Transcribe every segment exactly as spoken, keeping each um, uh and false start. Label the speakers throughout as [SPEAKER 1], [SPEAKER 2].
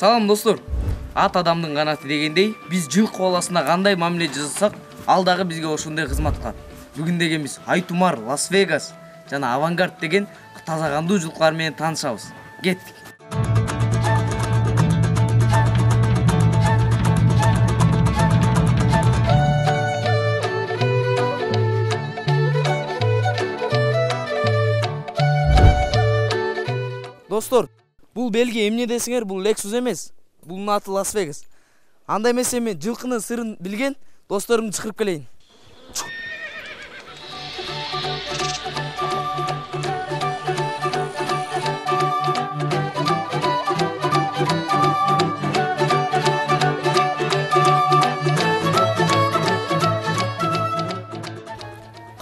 [SPEAKER 1] Салам достор. Ат адамдын канаты дегендей, биз жылкы баласына кандай мамиле жасасак, ал дагы бизге ошондой кызмат кылат. Бүгүн деген биз Айтумар, Лас-Вегас жана Авангард деген таза кандуу жылкылар менен таанышабыз. Кеттик. Достор, бул белги эмне десиңер, бул Lexus эмес. Бунун аты Лас-Вегас. Андай эмесе мен жылкынын сырын билген досторумду чакырып келейин.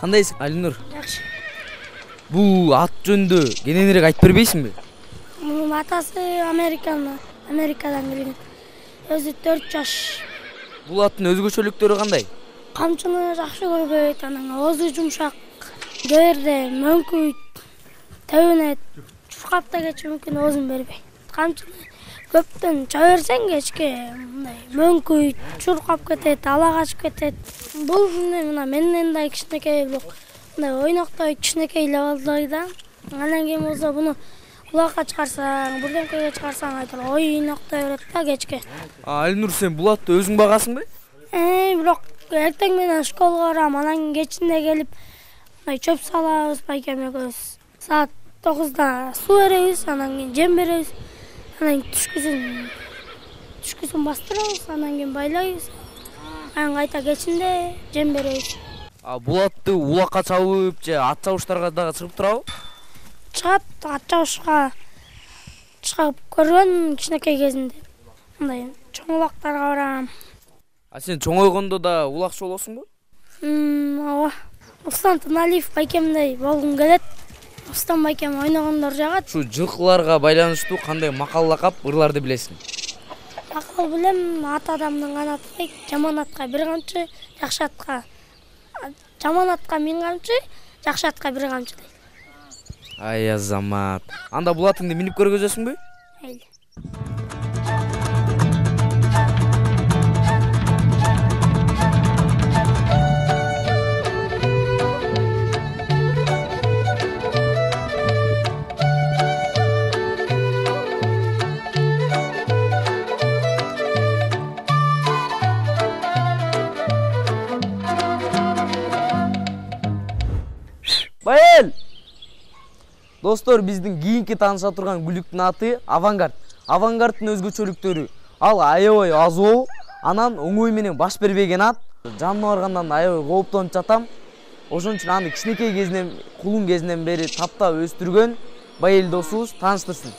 [SPEAKER 1] Кандайсың, Алинур?
[SPEAKER 2] Жакшы.
[SPEAKER 1] Бул ат жөнүндө кененирээк айтып бербейсиңби?
[SPEAKER 2] Мунун атасы Американы, Америкадан келген. Өзү төрт жаш.
[SPEAKER 1] Бул аттын өзгөчөлүктөрү кандай?
[SPEAKER 2] Камчыны жакшы көрбөйт, анан оозу жумшак, кээде мөңкүйт, тебинет, чуркап да кетиши мүмкүн, оозун бербейт. Камчыны көптөн чаа берсең кечке мындай мөңкүйт, чуркап кетет, ала качып кетет. Бул мына менден да кичинекей, бирок мындай ойноктой кичинекей левалдай да. Анан кийин болсо буну улакка чыгарсаң, бурдемкеге чыгарсаң айтыр, ойноктой берет да кечке.
[SPEAKER 1] Алинур, сен бул атты өзүң багасыңбы?
[SPEAKER 2] Э, бирок эртең менен школга барам, анан кечинде келип мындай чөп салабыз, байкем экөөбүз. Саат тогузда суу беребиз, анан кийин жем беребиз. Анан түшкүсүн түшкүсүн бастырабыз, анан кийин байлайбыз. Анан кайта кечинде жем беребиз.
[SPEAKER 1] А бул атты улакка чабып же ат чабыштарга дагы чыгып турабы?
[SPEAKER 2] Чыгат, ат чабышка чыгып көргөн кичинекей кезинде. Мындай чоң улактарга барам.
[SPEAKER 1] А сен чоңойгондо да улакчы болосуңбу?
[SPEAKER 2] Ооба. Устан Туналиев байкемдей болгум келет. Устан байкем ойногондор жагат.
[SPEAKER 1] Ушу жылкыларга байланыштуу кандай макал лакап ырларды билесиң?
[SPEAKER 2] Макал билем, ат адамдын канаты, жаман атка бир камчы, жакшы атка жаман атка миң камчы, жакшы атка бир камчы дейт.
[SPEAKER 1] Ай Азамат. Анда бул атыңды минип көргөзөсүңбү?
[SPEAKER 2] Мейли.
[SPEAKER 1] Байел! Достор, биздин кийинки тааныша турган күлүктүн аты Авангард. Авангардтын өзгөчөлүктөрү: ал аябай азуу, анан оңой менен баш бербеген ат. Жанына баргандан аябай кооптонуп жатам. Ошон үчүн аны кичинекей кезинен, кулун кезинен бери таптап өстүргөн Байел досубуз тааныштырсын.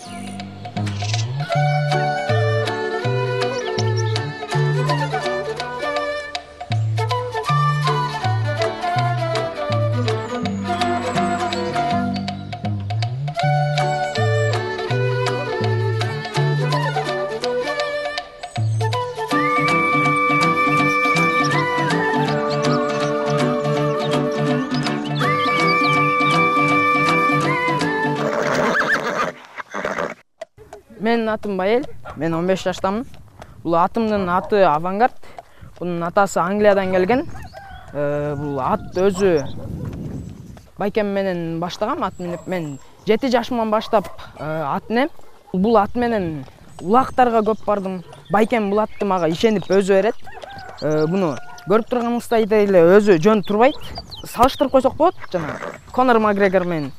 [SPEAKER 3] Менин атым Байел, мен он беш жаштамын. Бул атымдын аты Авангард. Бунун атасы Англиядан келген. Бул ат өзү байкем менен баштагам, ат минип. Мен жети жашымдан баштап ат минем. Бул ат менен улактарга көп бардым. Байкем бул атты мага ишенип өзү берет. Буну көрүп турганыңыздай эле өзү жөн турбайт. Салыштырып койсок болот, жана Конор Макгрегор менен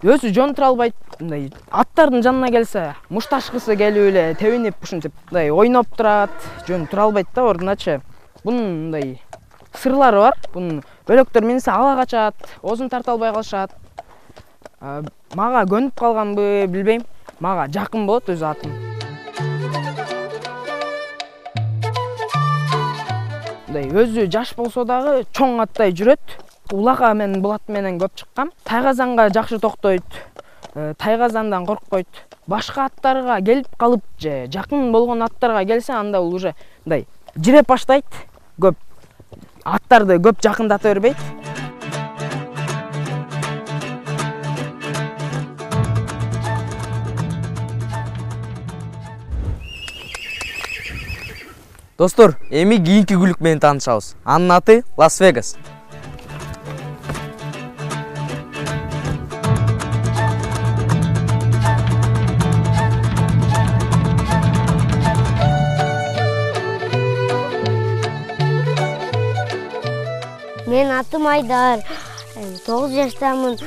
[SPEAKER 3] өзү жөн тура албайт. Мындай аттардын жанына келсе, мушташкысы келип эле тебинип ушинтип мындай ойноп турат, жөн тура албайт да ордуначы. Бунун мындай сырлары бар. Бунун бөлөктөр минсе ала качат, оозун тарта албай калышат. Мага көнүп калганбы билбейм. Мага жакын болот өзү атым. Мындай өзү жаш болсо дагы чоң аттай жүрөт. Улага мен бул ат менен көп чыккам. Тайгазанга жакшы токтойт. Тайгазандан коркпойт. Башка аттарга келип калып же жакын болгон аттарга келсе, анда ул уже мындай жиреп баштайт. Көп аттарды көп жакындата бербейт.
[SPEAKER 1] Достор, эми кийинки күлүк менен таанышабыз. Анын аты Лас-Вегас.
[SPEAKER 2] Мен атым Айдар. тогуз жаштамын.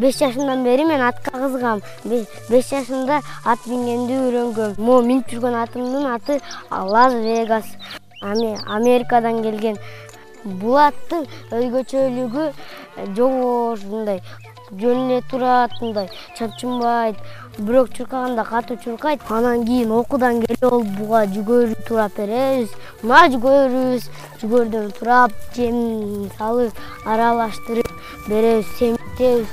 [SPEAKER 2] беш жашымдан бери мен атка кызыгам. беш жашымда ат мингенди үйрөнгөм. Могу минип жүргөн атымдын аты Лас-Вегас. Америкадан келген. Бул аттын өзгөчөлүгү жогор мындай жөн эле турат, мындай чапчынбайт, бирок чуркаганда катуу чуркайт. Анан кийин окуудан келип алып буга жүгөрү турап беребиз. Мына жүгөрүбүз, жүгөрдөн турап жем салып, аралаштырып беребиз, семиктебиз,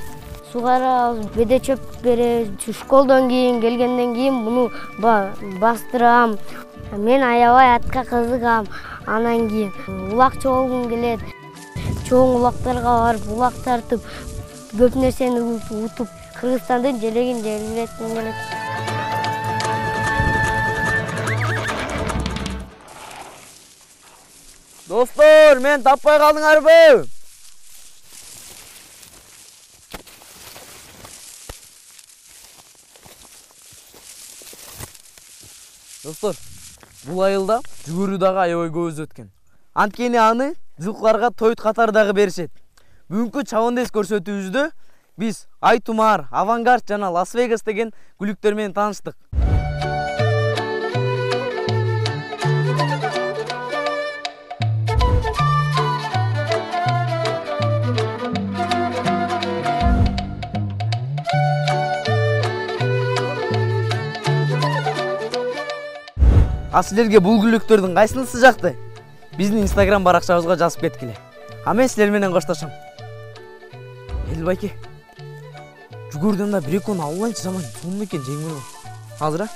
[SPEAKER 2] сугарабыз, беде чөп беребиз. Школдон кийин келгенден кийин муну бастырам. Мен аябай атка кызыгам. Анан кийин улак чогулгум келет. Чоң улактарга барып, улак тартып, көп нерсени утуп, Кыргызстандын желегин желбиретким келет.
[SPEAKER 1] Достор, мен таппай калдыңарбы? Достор, бул айылда жүгөрү дагы аябай көп өткен. Анткени аны жылкыларга тоют катары дагы беришет. Бүгүнкү чабандес көрсөтүүбүздө биз Айтумар, Авангард жана Лас-Вегас деген күлүктөр менен тааныштык. А силерге бул күлүктөрдүн кайсынысы жакты? Биздин Instagram баракчабызга жазып кеткиле. А мен силер менен коштошом. Эл байке. Жүгөрдөн да бир экөөнү албайынчы жаман сонун экен жеңил. Азыр а?